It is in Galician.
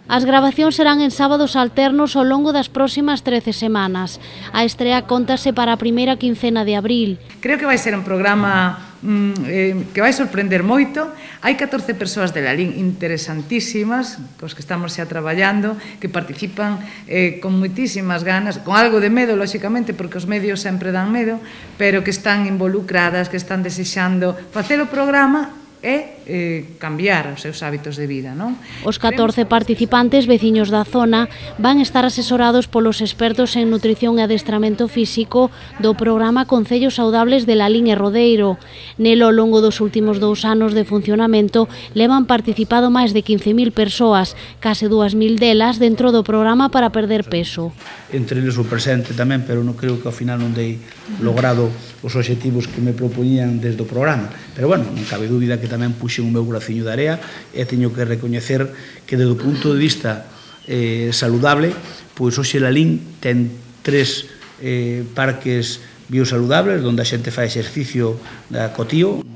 As gravacións serán en sábados alternos ao longo das próximas 13 semanas. A estrea cóntase para a primeira quincena de abril. Creo que vai ser un programa que vai sorprender moito. Hai 14 persoas de Lalín interesantísimas, cos que estamos xa traballando, que participan con moitísimas ganas, con algo de medo, lóxicamente, porque os medios sempre dan medo, pero que están involucradas, que están desexando facer o programa e cambiar os seus hábitos de vida, non? Os 14 participantes veciños da zona van estar asesorados polos expertos en nutrición e adestramento físico do programa Concellos Saudables de Lalín e Rodeiro. Nelo, ao longo dos últimos 2 anos de funcionamento, levan participado máis de 15.000 persoas, case 2.000 delas dentro do programa para perder peso. Entre eles o presente tamén, pero non creo que ao final non dei logrado os obxectivos que me propoñían desde o programa. Pero, bueno, non cabe dúbida que tamén puxen o meu braciño de area e teño que recoñecer que, desde o punto de vista saludable, pois hoxe Lalín ten 3 parques biosaludables, onde a xente fai exercicio co tío,